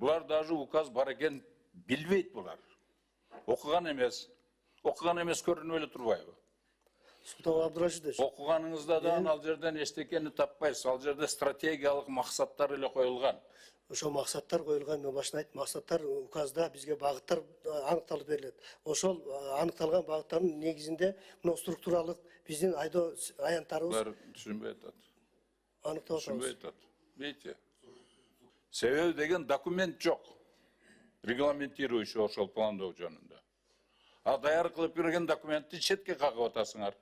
Булар даже указ бар экен билбейт булар. Окуган эмес көрүнүп эле турбайбы? Султан Абдурашидович. Окуганыңызда да ал жерден эчтекени таппайсыз. Ал жерде стратегиялык максаттар эле коюлган. Ошо максаттар коюлган, мен башында айттым, максаттар указда бизге багыттар аныкталып берилет. Ошол аныкталган багыттардын негизинде мына структуралык биздин айдоо аянттарыбыз Булар түшүнбөй атат. Аныктап Түшүнбөй атабыз. атат. Видите? Себеби деген документ жок. Регламентирующий ошол пландоо жөнүндө. А даяр кылып берген документти четке кагып атасыңар.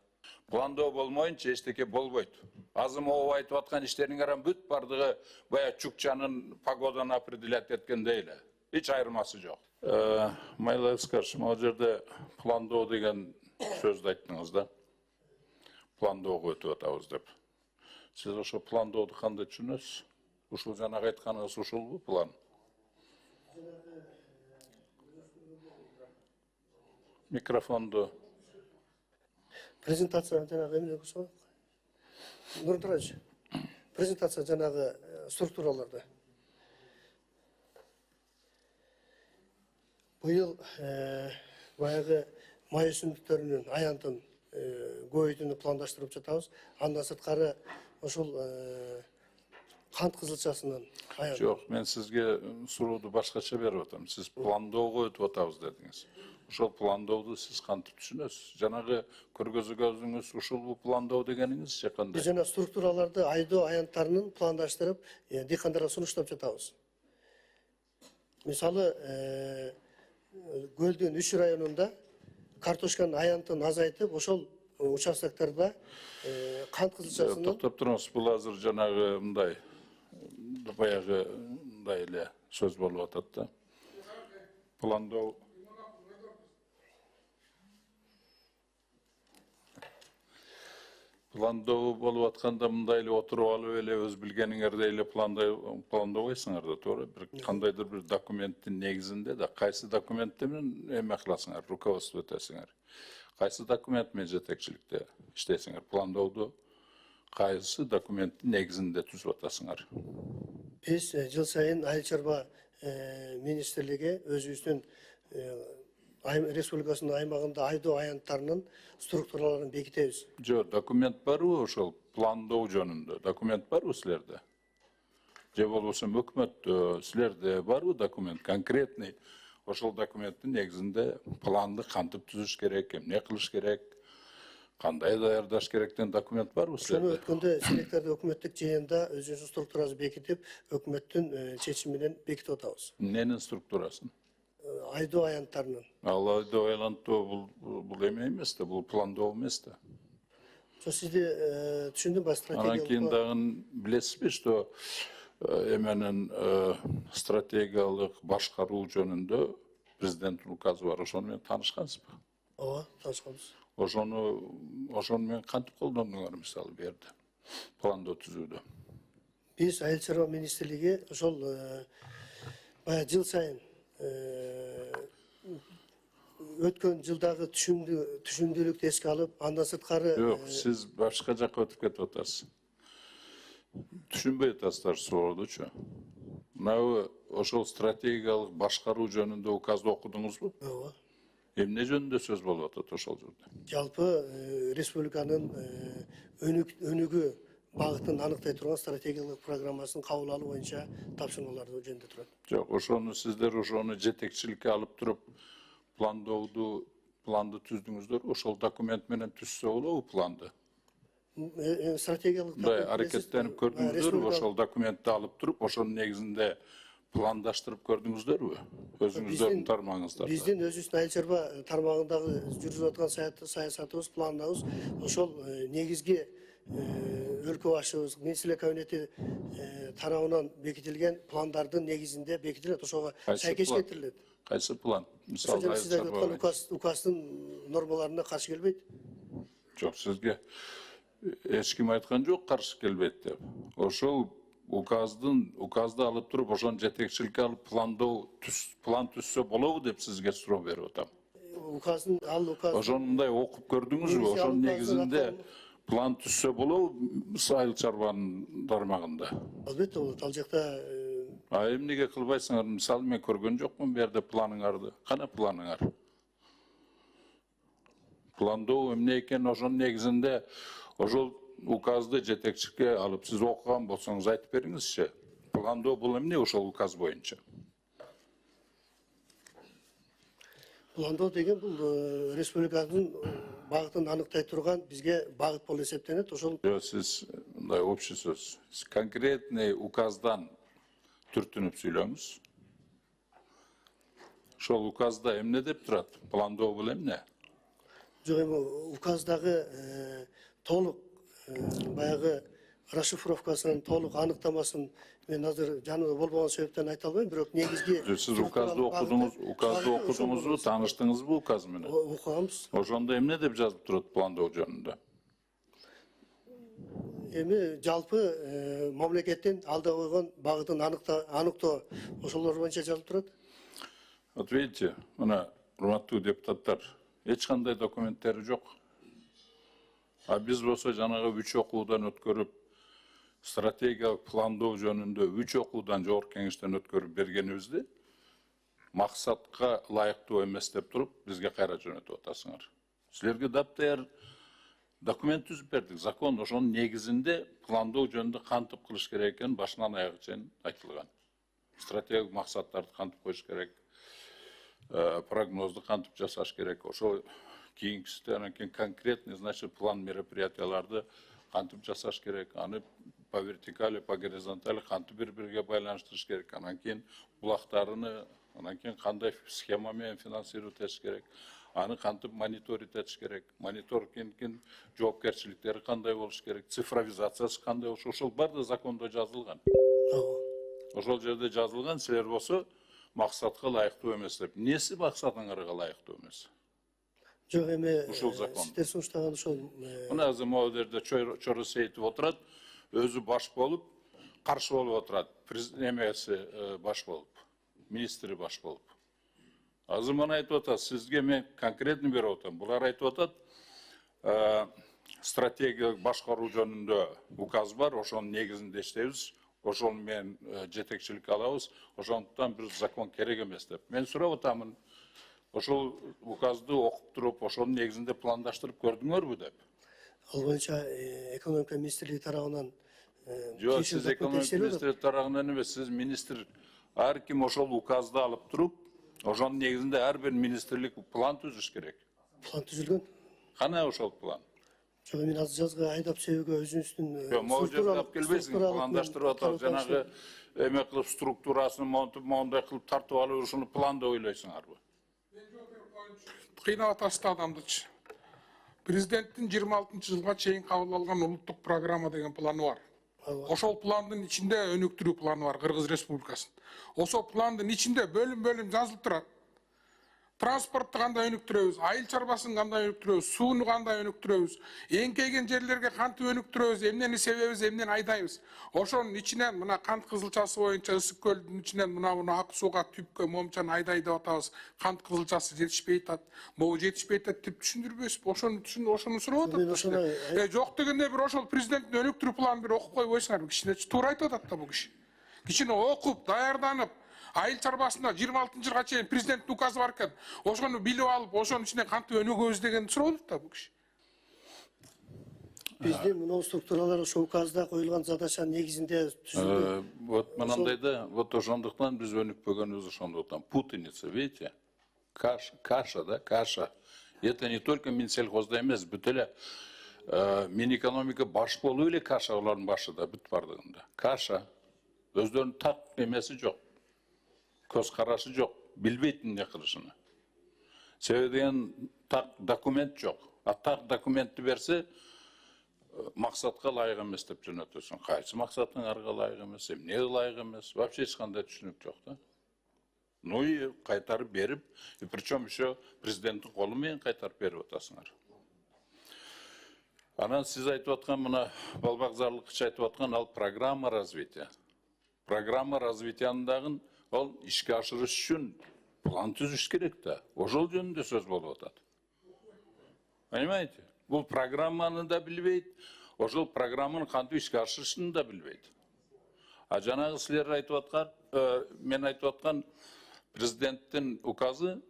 Пландоо болмоюнча эчтеке болбойт. Азыр могу айтып аткан иштериңер бүт бардыгы бая Чукчанын погоданы определять эткендей эле. Эч айырмасы жок. Майла Искаш, могу жерде пландоо деген сөздү айттыңыз да. Пландоого өтүп атабыз деп. Сиз ошо пландооду кандай түшүнөсүз? Ушул жанагы айтканыңыз ушулбу план? Микрофонду. Презентация жанагы эмне болсо? Нурмат Тураевич. Презентация жанагы структураларда. Быйыл баягы май өсүмдүктөрүнүн аянтын көбөйтүүнү пландаштырып жатабыз. Андан сырткары ошол кант кызылчасынын аянты. Жок, мен сизге сурооду башкача берип атам. Сиз пландоого өтүп атабыз дедиңиз. Ошол пландооду сиз кантип түшүнөсүз? Жанагы көргөзүүңүз ушул пландоо дегениңиз же кандай? Биз жана структураларды айдоо аянттарынын пландаштырып, дыйкандарга сунуштап жатабыз. Мисалы, Көлдүн 3 районунда картошканын аянтын азайтып, ошол участоктарда кант кызылчасынын Токтоп туруңуз, бул азыр жанагы мындай баягы мындай эле сөз болуп атат да. Пландоо болуп атканда мындай эле отуруп алып эле өз билгениңердей эле пландобойсуңар да, туура? Бир кандайдыр бир документтин негизинде да, кайсы документте менен эме кыласыңар, руководство этесиңер. Кайсы документ менен жетекчиликте иштейсиңер? Пландооду кайсы документтин негизинде түзүп атасыңар? Биз жыл сайын Айыл чарба министрлиги өзүбүздүн республикасынын аймагында айдоо аянттарынын структураларын бекитебиз. Жок, документ барбы ошол пландоо жөнүндө? Документ барбы силерде? Же болбосо өкмөттө силерде барбы документ конкретный? Ошол документтин негизинде планды кантип түзүш керек, эмне кылыш керек, кандай даярдаш керек деген документ барбы силерде? Ошону өткөндө силерде өкмөттүк жыйында өзүнүн структурасын бекитип, өкмөттүн чечими менен бекитип атабыз. Эмненин структурасын? Айдоо аянттарынын. Ал айдоо аянттоо бул эме эмес да, бул пландоо эмес да. Ошо сизди түшүндүм ба, стратегиялык. Анан кийин дагы билесизби, что эменин стратегиялык башкаруу жөнүндө президенттин указы бар. Ошону менен таанышкансызбы? Ооба, таанышканбыз. Ошону менен кантип колдондуңар мисалы бу жерде? Пландоо түзүүдө. Биз Айыл чарба министрлиги ошол бая жыл сайын өткөн жылдагы түшүндүүлүктү эске алып, андан сырткары Жок, сиз башка жакка өтүп кетип атасыз. Түшүнбөй атасыздар суроодучу. Мына ошол стратегиялык башкаруу жөнүндө указды окудуңузбу? ооба. Эмне жөнүндө сөз болуп атат ошол жерде? Жалпы республиканын өнүгүү багытын аныктай турган стратегиялык программасын кабыл алуу боюнча тапшырмаларды жөнүндө турат. Жок, ошону сиздер ошону жетекчиликке алып туруп планды түздүңүздөр, ошол документ менен түзсө болобу планды? Стратегиялык Мындай аракеттенип көрдүңүздөрбү, ошол документти алып туруп, ошонун негизинде пландаштырып көрдүңүздөрбү? Өзүңүздөрдүн тармагыңыздарда. Биздин өзүбүздүн Айыл чарба тармагындагы жүргүзүп аткан саясатыбыз, планыбыз ошол негизги өлкө башчыбыз, министрлер кабинети тарабынан бекитилген пландардын негизинде бекитилет, ошого сайкеш кетирилет. Кайсы план? Мисалы, сиз айтып аткан указдын нормаларына каршы келбейт? Жок, сизге эч ким айткан жок каршы келбейт деп. Ошол указды алып туруп, ошону жетекчиликке алып план түзсө болобу деп сизге суроо берип атам. Ошону мындай окуп көрдүңүзбү? Ошонун негизинде план түзсө болобу Айыл чарбанын тармагында? Албетте болот. Ал жакта Эмнеге кылбайсыңар? Мисалы мен көргөн жокмун бу жерде планыңарды. Кана планыңар? Пландоо эмне экен, ошонун негизинде ошол указды жетекчиликке алып, сиз окуган болсоңуз айтып бериңизчи. Пландоо бул эмне ошол указ боюнча? Пландоо деген бул республиканын багытын аныктай турган бизге багыт болуп эсептенет. Ошол Сиз мындай общий сөз. Сиз конкретный указдан түртүнүп сүйлөңүз. Ошол указда эмне деп турат? Пландоо бул эмне? жок эми указдагы толук баягы расшифровкасын, толук аныктамасын мен азыр жанымда болбогон себептен айта албайм, бирок негизги Сиз указды окудуңузбу, тааныштыңызбы указ менен? окуганбыз. Ошондо эмне деп жазып турат пландоо жөнүндө? Эми жалпы мамлекеттин алда койгон багытын аныктоо ошолор боюнча жазылып турат. Вот видите, мына урматтуу депутаттар, эч кандай документтери жок. А биз болсо жанагы 3 окуудан өткөрүп, стратегиялык пландоо жөнүндө 3 окуудан жогорку кеңештен өткөрүп бергенибизди максатка ылайыктуу эмес деп туруп, бизге кайра жөнөтүп атасыңар. Силерге таптаяр документ түзүп бердик, закон, ошонун негизинде пландоо жөнүндө кантип кылыш керек экени башынан аягына чейин айтылган. Стратегиялык максаттарды кантип коюш керек, прогнозду кантип жасаш керек, ошол кийинкисинде анан кийин конкретный, значит, план мероприятияларды кантип жасаш керек, аны по вертикали, по горизонтали кантип бири-бириге байланыштырыш керек, анан кийин булактарыны, анан кийин кандай схема менен финансировать этиш керек, аны кантип мониторить этиш керек, мониторингдин жоопкерчиликтери кандай болуш керек, цифровизациясы кандай болуш, ошол баардыгы закондо жазылган. Ошол жерде жазылган, силер болсо максатка ылайыктуу эмес деп. Эмнеси максатыңарга ылайыктуу эмес? Жок эми Ушул закон. сиздер сунуштаган ошол Мына азыр могу жерде Чоро Сейитов отурат, өзү баш болуп, каршы болуп отурат. Эмеси баш болуп, министри баш болуп. Азыр мына айтып атат, сизге мен конкретно берип атам. Булар айтып атат, стратегиялык башкаруу жөнүндө указ бар, ошонун негизинде иштейбиз. Ошол менен жетекчиликке алабыз, ошондуктан бир закон керек эмес деп. Мен сурап атамын, ошол указды окуп туруп, ошонун негизинде пландаштырып көрдүңөрбү деп. ал боюнча экономика министрлиги тарабынан Жок, сиз экономика министри тарабынан эмес, сиз министр, ар ким ошол указды алып туруп, ошонун негизинде ар бир министрлик план түзүш керек. план түзүлгөн. Кана ошол план? Жок мен азыр жазга айдап себүүгө өзүңүздүн Жок, могу жерде алып келбейсиң, пландаштырып атат, жанагы эме кылып структурасын моундай кылып тартып алып, ушуну планда ойлойсуңарбы? Кыйнап атасыз да адамдычы. Президенттин 26-жылга чейин кабыл алган улуттук программа деген планы бар. Ошол пландын ичинде өнүктүрүү планы бар Кыргыз Республикасынын. Ошол пландын ичинде бөлүм жазылып турат. Транспортты кандай өнүктүрөбүз, айыл чарбасын кандай өнүктүрөбүз, сууну кандай өнүктүрөбүз, эңкейген жерлерге кантип өнүктүрөбүз, эмнени себебиз, эмнени айдайбыз. Ошонун ичинен мына кант кызылчасы боюнча Ысык көлдүн ичинен мына ак сууга түпкө момчаны айдай деп атабыз. Кант кызылчасы жетишпей атат. Могу жетишпей атат деп түшүндүрбөйсүзбү? Ошону сурап атат. Жок дегенде бир ошол президенттин өнүктүрүү планын бир окуп койбойсуңарбы? Кичине туура айтып атат да бул киши. Кичине окуп, даярданып, айыл чарбасында 26-жылга чейин президенттин указы бар экен. Ошону билип алып, ошонун ичинен кантип өнүгөбүз дегенди сурап атат да бул киши. Биздин мына структуралар ошол указда коюлган задачанын негизинде түзүлдү. Вот мынандай да, вот ошондуктан биз өнүкпөгөнүбүз ошондуктан. Путаница, видите? Каша, да, каша. Это не только Минсельхозда эмес, бүт эле Минэкономика баш болуп эле каша алардын башында, бүт бардыгында. Каша. Өздөрүнүн так эмеси жок. Көз карашы жок, билбейт эмне кылышын. Себеби деген так документ жок. А так документти берсе, максатка ылайык эмес деп жөнөтөсүң. Кайсы максатыңарга ылайык эмес, эмнеге ылайык эмес, вообще эч кандай түшүнүк жок да. Ну и кайтарып берип, и причем еще президенттин колу менен кайтарып берип атасыңар. Анан сиз айтып аткан мына балбакзарлыкчы айтып аткан ал программа развития. Программа развитиянын ол ишке ашырыш үчүн план түзүш керек да. Ошол жөнүндө сөз болуп атат. Понимаете? Бул программаны да билбейт, ошол программаны кантип ишке ашырышын да билбейт. А жанагы силер айтып аткан, мен айтып аткан президенттин указы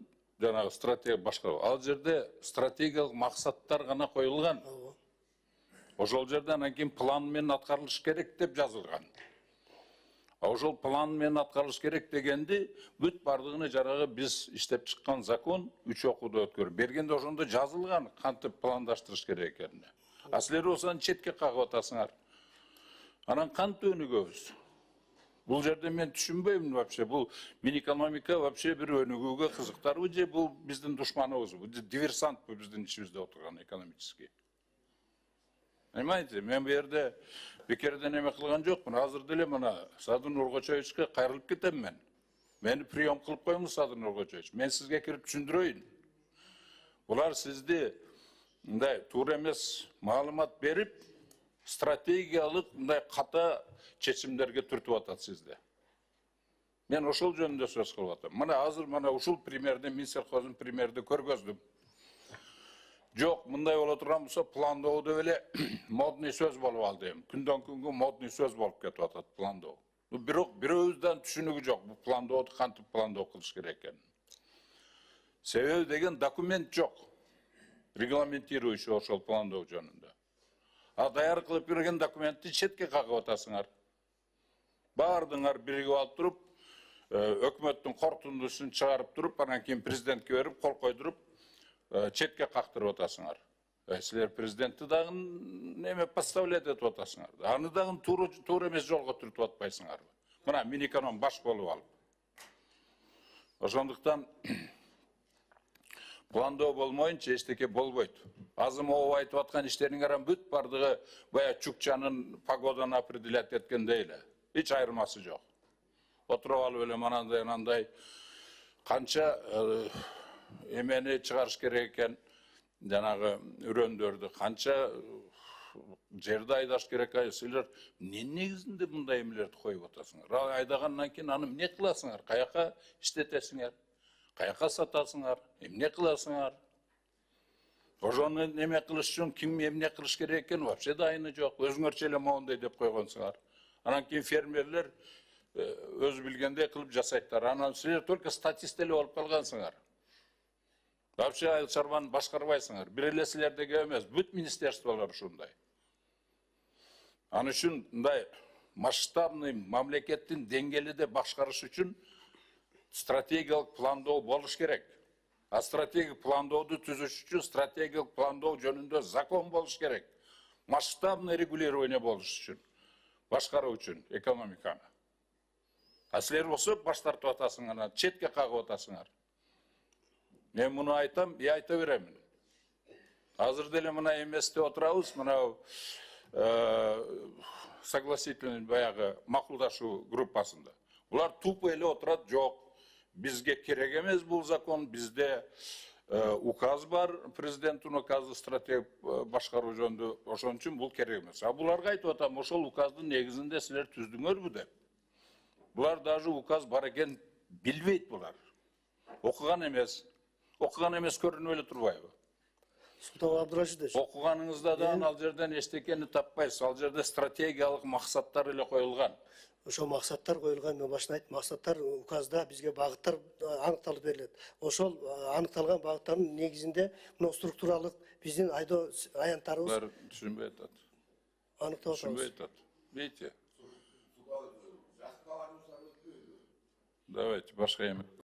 жанагы стратегия башкаруу. Ал жерде стратегиялык максаттар гана коюлган. Ошол жерде анан кийин план менен аткарылыш керек деп жазылган. Ошол план менен аткарылыш керек дегенди бүт бардыгыны жанагы биз иштеп чыккан закон 3 окууда өткөрүп бергенде ошондо жазылган кантип пландаштырыш керек экенине. А силер осаны четке кагып атасыңар. Анан кантип өнүгөбүз? Бул жерде мен түшүнбөйм вообще. Бул Минэкономика вообще бир өнүгүүгө кызыктарбы же бул биздин душманыбызбы? Диверсантпы биздин ичибизде отурган экономический? Понимаете, мен бу жерде бекерден эме кылган жокмун. Азыр деле мына Садыр Нуркочоевичке кайрылып кетем мен. Мени прием кылып коюңуз, Садыр Нуркочоевич. Мен сизге кирип түшүндүрөйүн. Булар сизди мындай туура эмес маалымат берип, стратегиялык мындай ката чечимдерге түртүп атат сизде. Мен ошол жөнүндө сөз кылып атам. Мына азыр мына ушул примерди, Минсельхоздун примерди көргөздүм. Жок, мындай боло турган болсо пландоо деп эле модный сөз болуп алды эми. Күндөн күнгө модный сөз болуп кетип атат пландоо. Бирок бирөөбүздөн түшүнүгү жок бул пландооду кантип пландоо кылыш керек экенин. Себеби деген документ жок. Регламентирующий ошол пландоо жөнүндө. А даяр кылып берген документти четке кагып атасыңар. Бардыңар биригип алып туруп, өкмөттүн корутундусун чыгарып туруп, анан кийин президентке берип, кол койдуруп, четке кактырып атасыңар. Силер президентти дагы неме поставлять этип атасыңар. Аны дагы туура эмес жолго түртүп атпайсыңарбы? Мына Минэконом баш болуп алып. Ошондуктан пландоо болмоюнча эчтеке болбойт. Азыр могу айтып аткан иштериңер бүт бардыгы бая Чукчанын погоданы определять эткендей эле. Эч айырмасы жок. Отуруп алып эле анандай канча эмени чыгарыш керек экен, жанагы үрөндөрдү канча жерди айдаш керек экен. Силер эмне негизинде мындай эмелерди коюп атасыңар? Айдагандан кийин аны эмне кыласыңар? Каяка иштетесиңер? Каяка сатасыңар? Эмне кыласыңар? Ошону неме кылыш үчүн ким эмне кылыш керек экен вообще дайыны жок. Өзүңөрчө эле моундай деп койгонсуңар. Анан кийин фермерлер өзү билгендей кылып жасайттар. Анан силер только статист эле болуп калгансыңар. Вообще айыл чарбаны башкарбайсыңар. Бир эле силердеги эмес, бүт министерстволор ушундай. Аны үчүн мындай масштабный мамлекеттин деңгээлде башкарыш үчүн стратегиялык пландоо болуш керек. А стратегиялык пландооду түзүш үчүн стратегиялык пландоо жөнүндө закон болуш керек. Масштабный регулирование болуш үчүн, башкаруу үчүн экономиканы. А силер болсо баш тартып атасыңар, четке кагып атасыңар. Мен муну айтам, айта беремин. Азыр деле мына эместе отурабыз, мына согласительный баягы макулдашуу группасында. Булар тупо эле отурат, жок. Бизге керек эмес бул закон, бизде указ бар, президенттин указы стратегия башкаруу жөнүндө, ошон үчүн бул керек эмес. А буларга айтып атам, ошол указдын негизинде силер түздүңөрбү деп. Булар даже указ бар экен билбейт булар. Окуган эмес көрүнүп эле турбайбы? Султан Абдурашидович. Окуганыңызда да ал жерден эчтекени таппайсыз. Ал жерде стратегиялык максаттар эле коюлган. Ошол максаттар коюлган, мен башында айттым, максаттар указда бизге багыттар аныкталып берилет. Ошол аныкталган багыттардын негизинде мына структуралык биздин айдоо аянттарыбыз Булар түшүнбөй атат. аныктап атабыз. Түшүнбөй атат. Видите? Давайте башка эме.